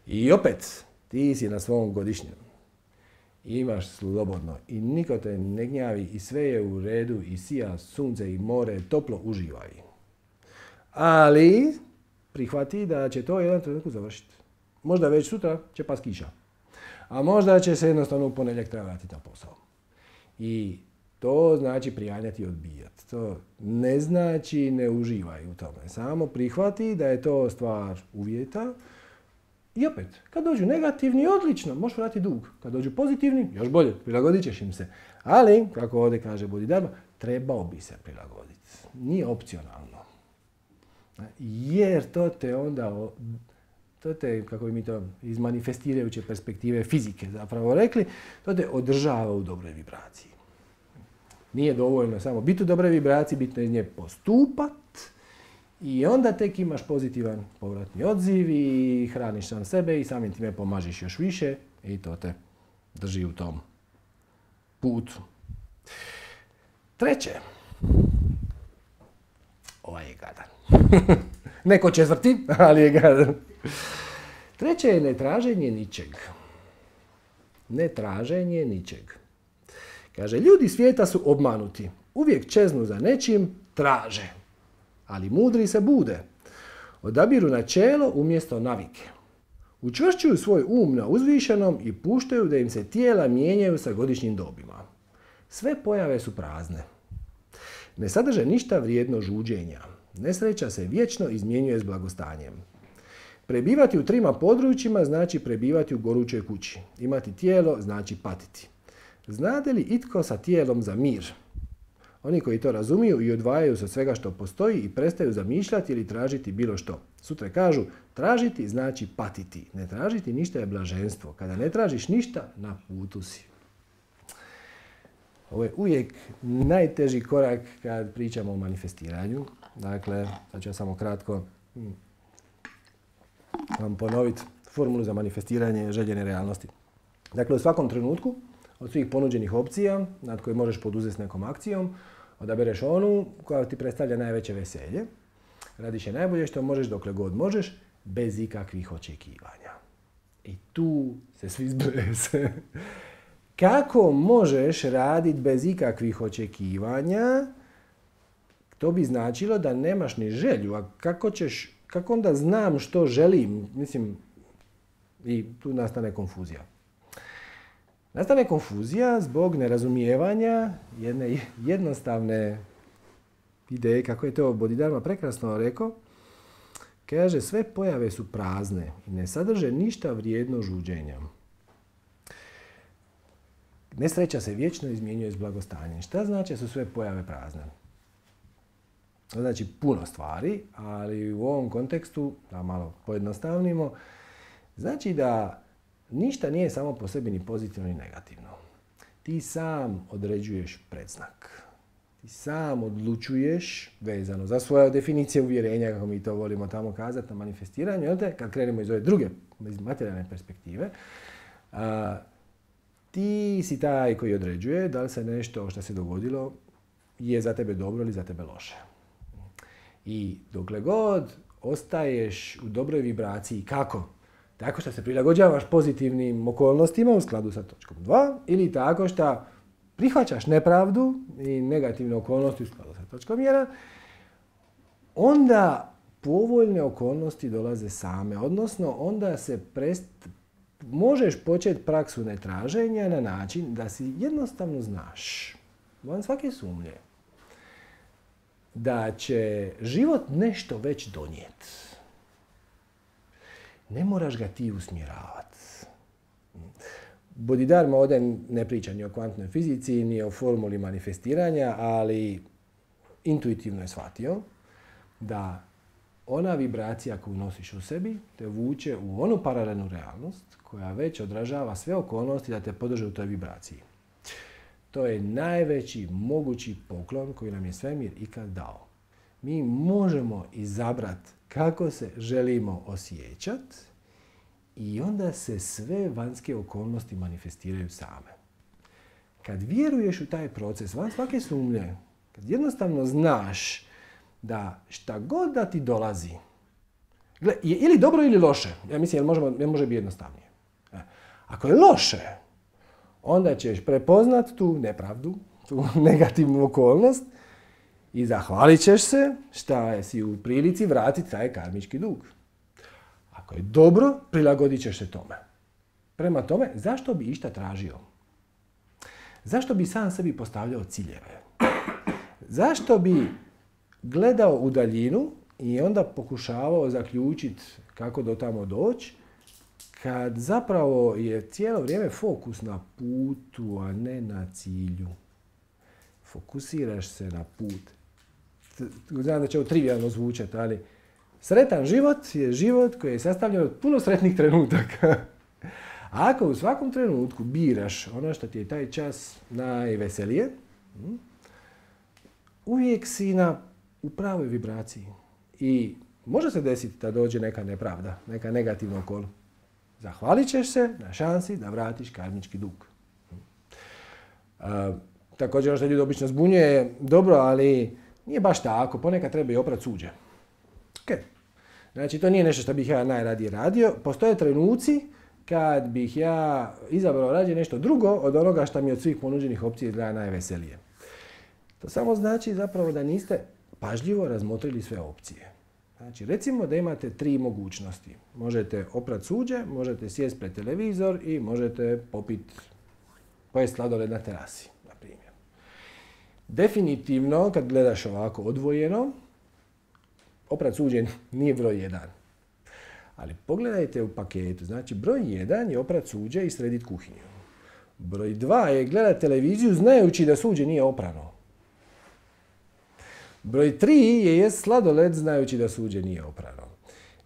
I opet, ti si na svom godišnjem. Imaš slobodno i niko te ne gnjavi i sve je u redu i sija sunce i more, toplo, uživaj. Ali prihvati da će to jedan trenutku završiti. Možda već sutra će pas kiša. A možda će se jednostavno u ponedjeljak treba vratiti na posao. I to znači prijanjati i odbijati. To ne znači ne uživaj u tome. Samo prihvati da je to stvar uvjeta. I opet, kad dođu negativni, odlično, možeš vratiti dug. Kad dođu pozitivni, još bolje, prilagodit ćeš im se. Ali, kako ovdje kaže Bodhidharma, trebao bi se prilagoditi. Nije opcionalno. Jer to te onda, kako bi mi to iz manifestirajuće perspektive fizike zapravo rekli, to te održava u dobroj vibraciji. Nije dovoljno samo biti u dobroj vibraciji, bitno je iz nje postupat i onda tek imaš pozitivan povratni odziv i hraniš sam sebe i samim time pomažiš još više i to te drži u tom putu. Treće. Ovaj je gadan. Neko četvrti, ali je gadan. Treće je netraženje ničeg. Netraženje ničeg. Kaže, ljudi svijeta su obmanuti. Uvijek čeznu za nečim, traže. Ali mudri se bude. Odabiru načelo umjesto navike. Učvršćuju svoj um na uzvišenom i puštaju da im se tijela mijenjaju sa godišnjim dobima. Sve pojave su prazne. Ne sadrže ništa vrijedno žuđenja. Nesreća se vječno izmjenjuje s blagostanjem. Prebivati u trima područjima znači prebivati u gorućoj kući. Imati tijelo znači patiti. Znade li itko sa tijelom za mir? Oni koji to razumiju i odvajaju se od svega što postoji i prestaju zamišljati ili tražiti bilo što. Sutra kažu, tražiti znači patiti. Ne tražiti ništa je blaženstvo. Kada ne tražiš ništa, na putu si. Ovo je uvijek najteži korak kad pričamo o manifestiranju. Dakle, sad ću ja samo kratko vam ponoviti formulu za manifestiranje željene realnosti. Dakle, u svakom trenutku od svih ponuđenih opcija nad koje možeš poduzeti s nekom akcijom, odabereš onu koja ti predstavlja najveće veselje. Radiš je najbolje što možeš dokle god možeš, bez ikakvih očekivanja. I tu se svi zbrese. Kako možeš raditi bez ikakvih očekivanja? To bi značilo da nemaš ni želju. A kako onda znam što želim? Mislim, i tu nastane konfuzija. Nastane konfuzija zbog nerazumijevanja jedne jednostavne ideje, kako je to Bodhidharma prekrasno rekao. Kaže, sve pojave su prazne i ne sadrže ništa vrijedno žuđenja. Nesreća se vječno izmjenjuje s blagostanjem. Šta znači da su sve pojave prazne? To znači puno stvari, ali u ovom kontekstu, da malo pojednostavnimo, znači da ništa nije samo po sebi ni pozitivno ni negativno. Ti sam određuješ predznak. Ti sam odlučuješ, vezano za svoje definicije uvjerenja, kako mi to volimo tamo kazati na manifestiranju, kad krenemo iz ove druge, iz materijalne perspektive, ti si taj koji određuje da li se nešto što se dogodilo je za tebe dobro ili za tebe loše. I dokle god ostaješ u dobroj vibraciji, kako? Tako što se prilagođavaš pozitivnim okolnostima u skladu sa točkom 2 ili tako što prihvaćaš nepravdu i negativne okolnosti u skladu sa točkom 1, onda povoljne okolnosti dolaze same, odnosno onda se možeš početi praksu netraženja na način da si jednostavno znaš, van svake sumnje, da će život nešto već donijeti. Ne moraš ga ti usmjeravati. Bodhidharma ovdje ne priča ni o kvantnoj fizici, ni o formuli manifestiranja, ali intuitivno je shvatio da ona vibracija koju nosiš u sebi te vuče u onu paralelnu realnost koja već odražava sve okolnosti da te podrže u toj vibraciji. To je najveći mogući poklon koji nam je svemir ikad dao. Mi možemo izabrati kako se želimo osjećati i onda se sve vanjske okolnosti manifestiraju same. Kad vjeruješ u taj proces, van svake sumnje, kad jednostavno znaš da šta god da ti dolazi, je ili dobro ili loše, ja mislim jer može biti jednostavnije. Ako je loše, onda ćeš prepoznat tu nepravdu, tu negativnu okolnost i zahvalit ćeš se šta si u prilici vratiti taj karmički dug. Ako je dobro, prilagodit ćeš se tome. Prema tome, zašto bi išta tražio? Zašto bi sam sebi postavljao ciljeve? Zašto bi gledao u daljinu i onda pokušavao zaključiti kako do tamo doći, kad zapravo je cijelo vrijeme fokus na putu, a ne na cilju. Fokusiraš se na put. Znam da će ovo trivijalno zvučati, ali sretan život je život koji je sastavljen od puno sretnih trenutaka. A ako u svakom trenutku biraš ono što ti je taj čas najveselije, uvijek si u pravoj vibraciji. I može se desiti da dođe neka nepravda, neka negativna okolnost. Zahvalit ćeš se na šansi da vratiš karmički dug. Također ono što ljudi obično zbunjuje je dobro, ali nije baš tako. Ponekad treba i oprat suđe. Okay. Znači, to nije nešto što bih ja najradije radio. Postoje trenuci kad bih ja izabrao rađe nešto drugo od onoga što mi od svih ponuđenih opcija izgleda najveselije. To samo znači zapravo da niste pažljivo razmotrili sve opcije. Znači, recimo da imate 3 mogućnosti. Možete oprat suđe, možete sjesti pred televizor i možete pojesti sladoled na terasi, na primjer. Definitivno, kad gledaš ovako odvojeno, oprat suđe nije broj 1. Ali pogledajte u paketu. Znači, broj 1 je oprat suđe i srediti kuhinju. Broj 2 je gledati televiziju znajući da suđe nije oprano. Broj 3 je jest sladoled znajući da suđe nije oprano.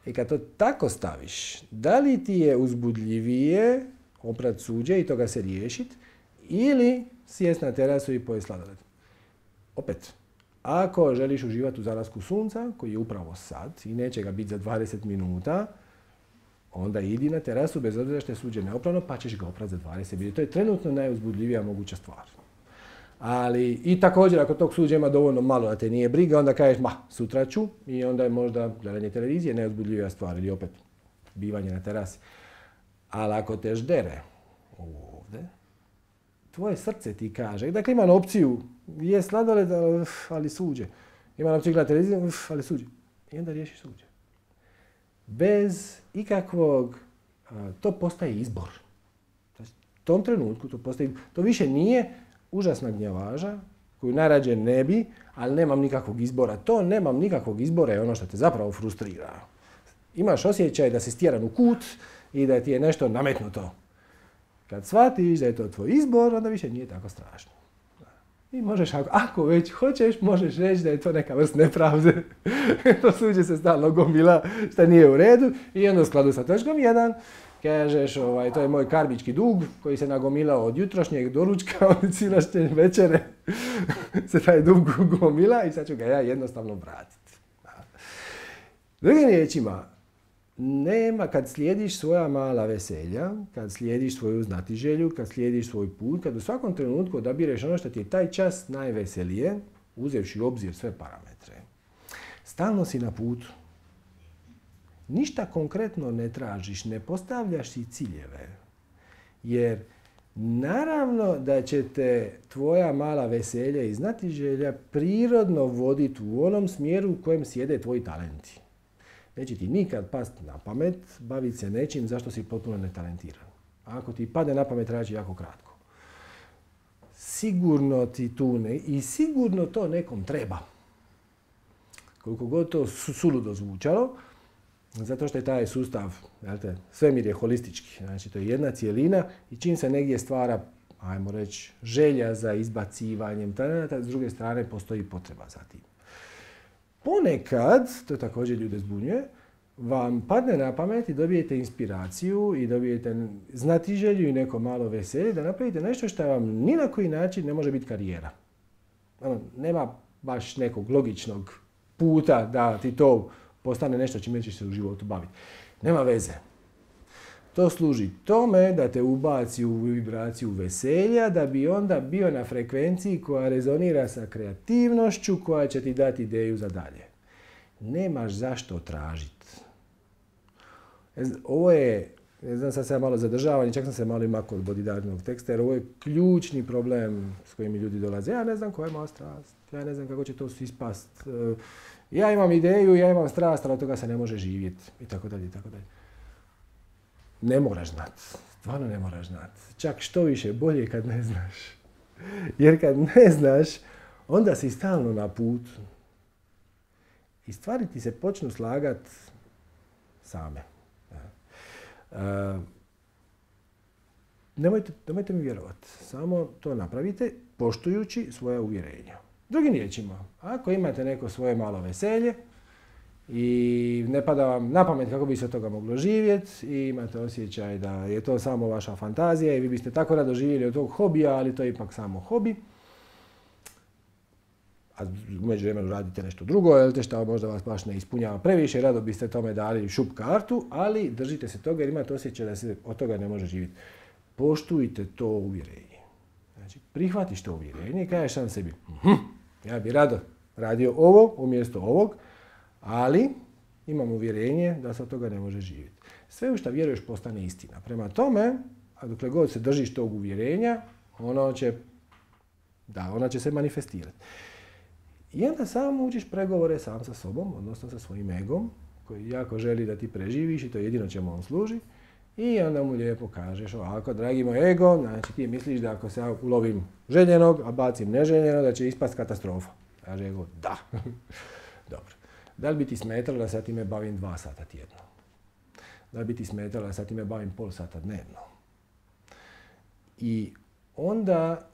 I kad to tako staviš, da li ti je uzbudljivije oprat suđe i toga se riješiti, ili sjest na terasu i pojesti sladoled? Opet, ako želiš uživati u zalasku sunca, koji je upravo sad i neće ga biti za 20 minuta, onda idi na terasu bez obzira što je suđe neoprano, pa ćeš ga oprati za 20 minuta. To je trenutno najuzbudljivija moguća stvar. Ali i također ako tog suđa ima dovoljno malo da te nije briga, onda kažeš sutra ću i onda je možda gledanje televizije neuzbudljivija stvar ili opet bivanje na terasi. Ali ako te ždere ovdje, tvoje srce ti kaže, dakle ima opciju, je sladoled, ali suđe. Ima opciju gledati televiziju, ali suđe. I onda riješiš suđe. Bez ikakvog, to postaje izbor. U tom trenutku to više nije užasna gnjavaža, koju najrađe ne bi, ali nemam nikakvog izbora. To nemam nikakvog izbora je ono što te zapravo frustrira. Imaš osjećaj da si stjeran u kut i da ti je nešto nametnuto. Kad shvatiš da je to tvoj izbor, onda više nije tako strašno. I možeš, ako već hoćeš, možeš reći da je to neka vrst nepravde. To suđe se stalno gomila šta nije u redu i onda u skladu sa točkom 1 kažeš, to je moj karmički dug koji se nagomilao od jutrošnjeg doručka, od silašnje večere se taj dug gomila i sad ću ga ja jednostavno vratiti. Drugim riječima, nema, kad slijediš svoja mala veselja, kad slijediš svoju znatiželju, kad slijediš svoj put, kad u svakom trenutku odabireš ono što ti je taj čas najveselije, uzevši u obzir sve parametre, stalno si na putu. Ništa konkretno ne tražiš, ne postavljaš si ciljeve. Jer naravno da će te tvoja mala veselja i znatiželja prirodno voditi u onom smjeru u kojem sjede tvoji talenti. Neće ti nikad pasti na pamet baviti se nečim zašto si potpuno netalentiran. A ako ti padne na pamet, traži jako kratko. Sigurno ti tu i sigurno to nekom treba. Koliko god to suludo zvučalo, zato što je taj sustav, svemir je holistički. Znači, to je jedna cijelina i čim se negdje stvara, ajmo reći, želja za izbacivanjem talenata, s druge strane postoji potreba za tim. Ponekad, to također ljude zbunjuje, vam padne na pamet i dobijete inspiraciju i dobijete znatiželju i neko malo veselje da napravite nešto što vam ni na koji način ne može biti karijera. Nema baš nekog logičnog puta da ti to postane nešto čime ćeš se u životu baviti. Nema veze. To služi tome da te ubaci u vibraciju veselja, da bi onda bio na frekvenciji koja rezonira sa kreativnošću, koja će ti dati ideju za dalje. Nemaš zašto tražiti. Ovo je, ne znam, sad se ja malo zadržavam i čak sam se malo imakao od bodidarnog teksta, jer ovo je ključni problem s kojim ljudi dolaze. Ja ne znam koja je moja strast, ja ne znam kako će to ispast. Ja imam ideju, ja imam strast, ali od toga se ne može živjeti. I tako dalje, i tako dalje. Ne moraš znati. Stvarno ne moraš znati. Čak što više, bolje kad ne znaš. Jer kad ne znaš, onda si stalno na putu. I stvari ti se počnu slagati same. Nemojte mi vjerovati. Samo to napravite poštujući svoja uvjerenja. Drugim riječima, ako imate neko svoje malo veselje i ne pada vam na pamet kako bi se od toga moglo živjeti i imate osjećaj da je to samo vaša fantazija i vi biste tako rado živjeli od tog hobija, ali to je ipak samo hobi, a u međuvremenu radite nešto drugo, jer što možda vas baš ne ispunjava previše, rado biste tome dali šup kartu, ali držite se toga jer imate osjećaj da se od toga ne može živjeti. Poštujte to uvjerenje. Znači, prihvatiš to uvjerenje i kažeš sam sebi, ja bi rado radio ovo umjesto ovog, ali imam uvjerenje da se od toga ne može živjeti. Sve u što vjeruješ postane istina. Prema tome, a dokle god se držiš tog uvjerenja, ona će se manifestirati. I onda samo učiš pregovore sam sa sobom, odnosno sa svojim egom, koji jako želi da ti preživiš i to je jedino čemu on služi. I onda mu lijepo kažeš ovako, dragi moj ego, znači ti misliš da ako se ja ulovim željenog, a bacim neželjeno, da će ispast katastrofa. Kaže ego, da. Dobro. Da li bi ti smetalo da se ja time bavim 2 sata tjedno? Da li bi ti smetalo da se ja time bavim pol sata dnevno? I onda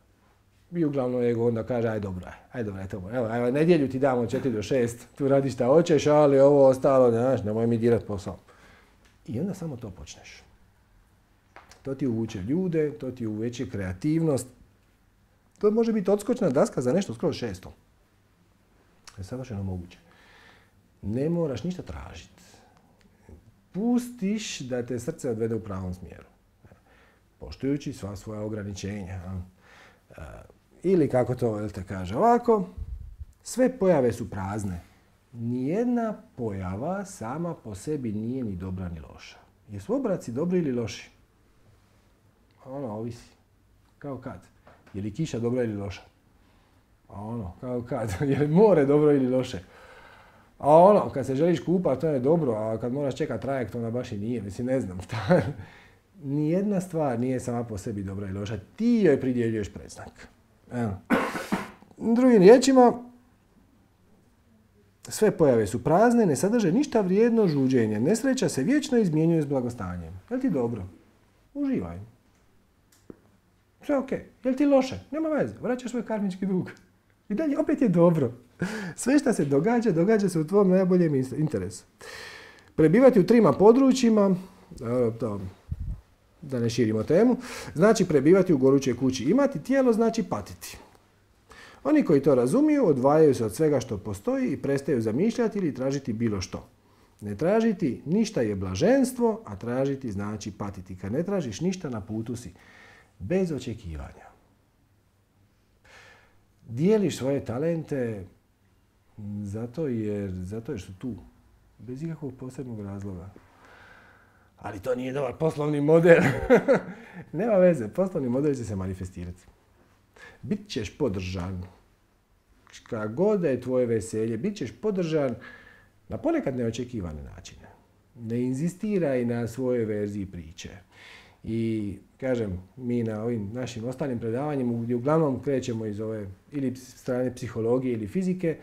bi uglavnom ego onda kaže, aj dobro, evo, nedjelju ti damo 4 do 6, tu radiš šta hoćeš, ali ovo ostalo, nemoj mi dirat posao. I onda samo to počneš. To ti uvuče ljude, to ti uveće kreativnost. To može biti odskočna daska za nešto skroz 600. To je savršeno moguće. Ne moraš ništa tražiti. Pustiš da te srce odvede u pravom smjeru. Poštujući sva svoja ograničenja. Ili kako to te kaže ovako, sve pojave su prazne. Nijedna pojava sama po sebi nije ni dobra ni loša. Jesu oblaci dobri ili loši? Ovisi. Kao kad? Je li kiša dobra ili loša? Kao kad? Je li more dobro ili loše? Kad se želiš kupati, to je dobro, a kad moraš čekati trajekt, onda baš i nije. Mislim, ne znam šta. Nijedna stvar nije sama po sebi dobra ili loša. Ti joj pridjeljuješ predznak. Drugim riječima, sve pojave su prazne, ne sadrže ništa vrijedno žuđenje. Nesreća se vječno izmjenjuje s blagostanjem. Je li ti dobro? Uživaj. Sve ok. Je li ti loše? Nema veze. Vraćaš svoj karmički dug. I dalje opet je dobro. Sve što se događa, događa se u tvom najboljem interesu. Prebivati u trima područjima, da ne širimo temu, znači prebivati u gorućoj kući. Imati tijelo znači patiti. Oni koji to razumiju odvajaju se od svega što postoji i prestaju zamišljati ili tražiti bilo što. Ne tražiti ništa je blaženstvo, a tražiti znači patiti. Kad ne tražiš ništa, na putu si. Bez očekivanja. Dijeliš svoje talente zato jer su tu. Bez ikakvog posebnog razloga. Ali to nije dobar poslovni model. Nema veze, poslovni model će se manifestirati. Bit ćeš podržan. Kada god da je tvoje veselje, bit ćeš podržan na ponekad neočekivane načine. Ne inzistiraj na svojoj verziji priče. I kažem, mi na ovim našim ostalim predavanjima gdje uglavnom krećemo iz ove ili strane psihologije ili fizike,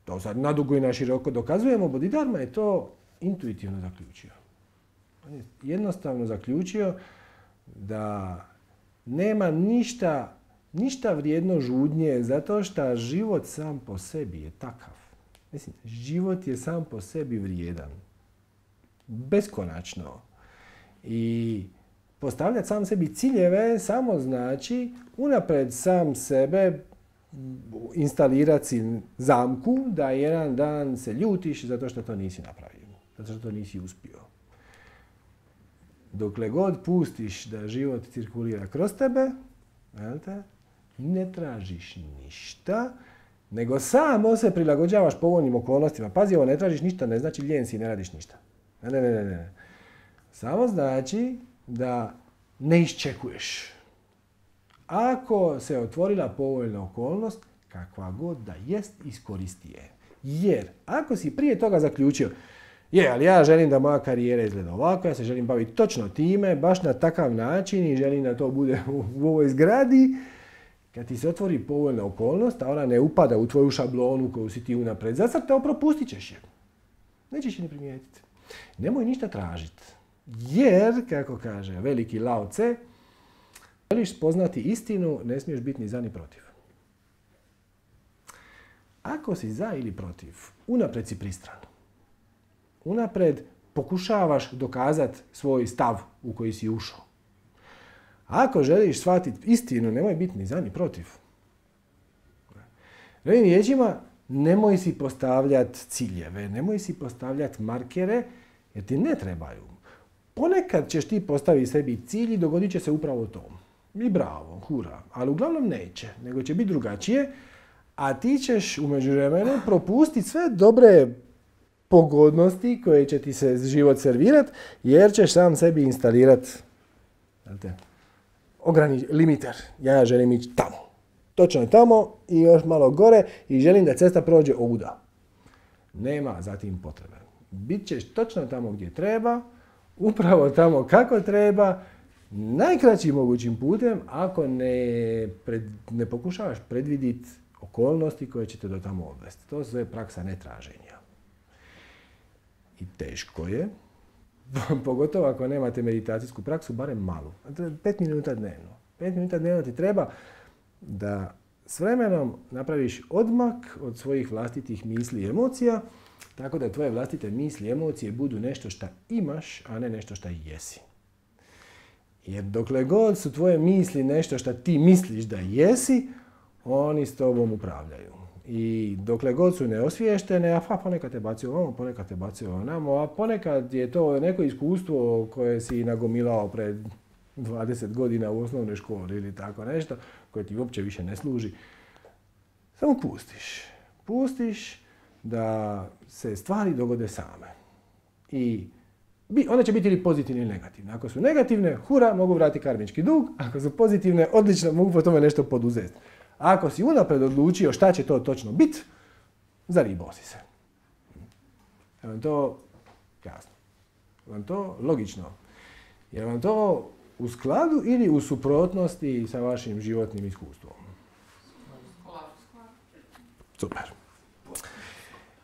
to sad nadugo i na široko dokazujemo, Bodhidharma je to intuitivno zaključio. On je jednostavno zaključio da nema ništa vrijedno žudnje zato što život sam po sebi je takav. Mislim, život je sam po sebi vrijedan. Beskonačno. I postavljati sam sebi ciljeve samo znači unaprijed sam sebe instalirati si zamku da jedan dan se ljutiš zato što to nisi napravio. Zato što to nisi uspio. Dokle god pustiš da život cirkulira kroz tebe, ne tražiš ništa, nego samo se prilagođavaš povoljnim okolnostima. Pazi, ovo ne tražiš ništa, ne znači lijen si i ne radiš ništa. Ne. Samo znači da ne iščekuješ. Ako se otvorila povoljna okolnost, kakva god da jest, iskoristi je. Jer ako si prije toga zaključio, ali ja želim da moja karijera izgleda ovako, ja se želim baviti točno time, baš na takav način i želim da to bude u ovoj zgradi, kad ti se otvori povoljna okolnost, a ona ne upada u tvoju šablonu koju si ti unaprijed zacrtao, propustit ćeš je. Nećeš je ni primijetiti. Nemoj ništa tražiti. Jer, kako kaže veliki Lao Tse, želiš spoznati istinu, ne smiješ biti ni za ni protiv. Ako si za ili protiv, unaprijed si pristran. Unaprijed pokušavaš dokazati svoj stav u koji si ušao. Ako želiš shvatiti istinu, nemoj biti ni za ni protiv. Drugim riječima, nemoj si postavljati ciljeve, nemoj si postavljati markere, jer ti ne trebaju. Ponekad ćeš ti postaviti sebi cilj i dogodit će se upravo to. I bravo, hura. Ali uglavnom neće, nego će biti drugačije, a ti ćeš u međuvremenu propustiti sve dobre pogodnosti koje će ti se život servirati, jer ćeš sam sebi instalirati limiter. Ja želim ići tamo. Točno tamo i još malo gore i želim da cesta prođe ovuda. Nema za tim potrebe. Bit točno tamo gdje treba, upravo tamo kako treba, najkraćim mogućim putem ako ne pokušavaš predvidjeti okolnosti koje će te do tamo odvesti. To sve je praksa netraženja. I teško je, pogotovo ako nemate meditacijsku praksu, barem malu. 5 minuta dnevno. 5 minuta dnevno ti treba da s vremenom napraviš odmak od svojih vlastitih misli i emocija, tako da tvoje vlastite misli i emocije budu nešto što imaš, a ne nešto što jesi. Jer dokle god su tvoje misli nešto što ti misliš da jesi, oni s tobom upravljaju. I dokle god su neosviještene, a ponekad te bacio ovamo, ponekad te bacio onamo, a ponekad je to neko iskustvo koje si nagomilao pred 20 godina u osnovnoj školi ili tako nešto, koje ti uopće više ne služi. Samo pustiš. Pustiš da se stvari dogode same. I one će biti ili pozitivne ili negativne. Ako su negativne, hura, mogu vratiti karmički dug. Ako su pozitivne, odlično, mogu po tome nešto poduzeti. A ako si unaprijed odlučio šta će to točno biti, zaribao si se. Je vam to jasno? Je vam to logično? Je vam to u skladu ili u suprotnosti sa vašim životnim iskustvom? Super.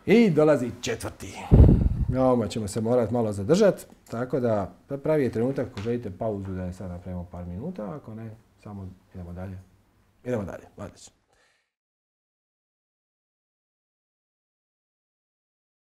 I dolazi 4. Ovome ćemo se morati malo zadržati, tako da pravi je trenutak ako želite pauzu da je sad napravimo par minuta, ako ne, samo idemo dalje. Idemo dalje, odlično.